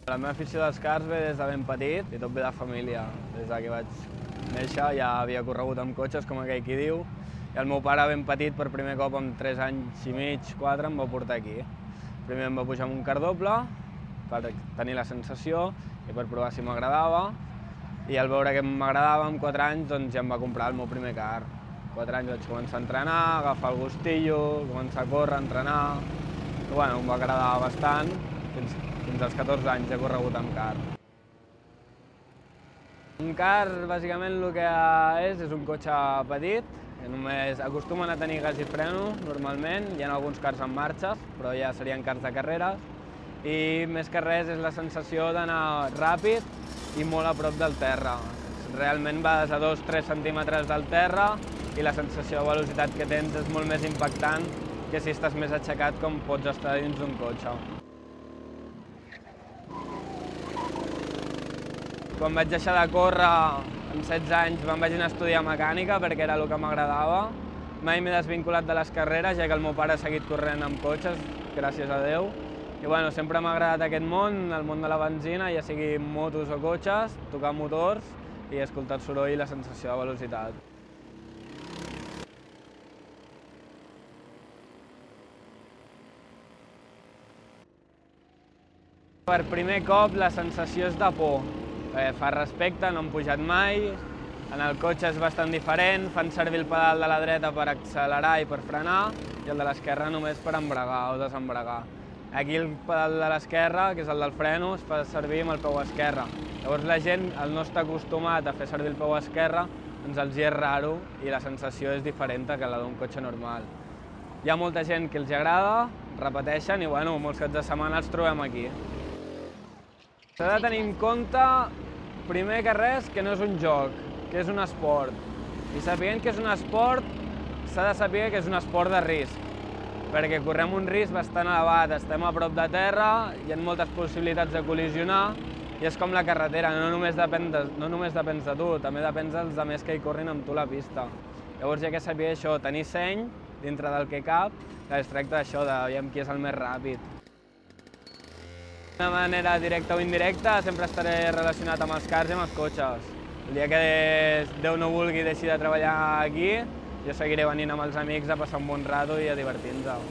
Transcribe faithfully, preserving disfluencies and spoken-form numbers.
La meva afició dels cars ve des de ben petit i tot ve de família. Des que vaig néixer ja havia corregut amb cotxes, com aquell qui diu, i el meu pare ben petit, per primer cop amb tres anys i mig, quatre, em va portar aquí. Primer em va pujar amb un car doble per tenir la sensació i per provar si m'agradava, i al veure que m'agradava amb quatre anys doncs ja em va comprar el meu primer car. quatre anys vaig començar a entrenar, a agafar el gustillo, començar a córrer, a entrenar, i bueno, em va agradar bastant. Fins, fins als catorze anys he corregut amb car. Un car, bàsicament, el que és, és un cotxe petit, que només acostumen a tenir gas i freno, normalment. Hi ha alguns cars en marxes, però ja serien cars de carreres. I més que res és la sensació d'anar ràpid i molt a prop del terra. Realment vas a dos tres centímetres del terra i la sensació de velocitat que tens és molt més impactant que si estàs més aixecat com pots estar dins d'un cotxe. Quan vaig deixar de córrer, amb setze anys, me'n vaig anar a estudiar mecànica perquè era el que m'agradava. Mai m'he desvinculat de les carreres, ja que el meu pare ha seguit corrent amb cotxes, gràcies a Déu. I bueno, sempre m'ha agradat aquest món, el món de la benzina, ja sigui motos o cotxes, tocar motors i escoltar el soroll i la sensació de velocitat. Per primer cop la sensació és de por. Fa respecte, no hem pujat mai, en el cotxe és bastant diferent, fan servir el pedal de la dreta per accelerar i per frenar i el de l'esquerra només per embragar o desembragar. Aquí el pedal de l'esquerra, que és el del freno, es fa servir amb el peu esquerre. Llavors la gent, al no estar acostumat a fer servir el peu esquerre, doncs els hi és raro i la sensació és diferent que la d'un cotxe normal. Hi ha molta gent que els agrada, repeteixen i bueno, molts caps de setmana els trobem aquí. S'ha de tenir en compte, primer que res, que no és un joc, que és un esport. I sabent que és un esport, s'ha de saber que és un esport de risc, perquè correm un risc bastant elevat, estem a prop de terra, hi ha moltes possibilitats de col·lisionar, i és com la carretera, no només depèn de, no només depèn de tu, també depèn dels altres que hi corrin amb tu la pista. Llavors hi ha que saber això, tenir seny dintre del que cap, que es tracta d'això, de veure qui és el més ràpid. De manera directa o indirecta, sempre estaré relacionat amb els cars i amb els cotxes. El dia que Déu no vulgui deixi de treballar aquí, jo seguiré venint amb els amics a passar un bon rato i a divertir-nos.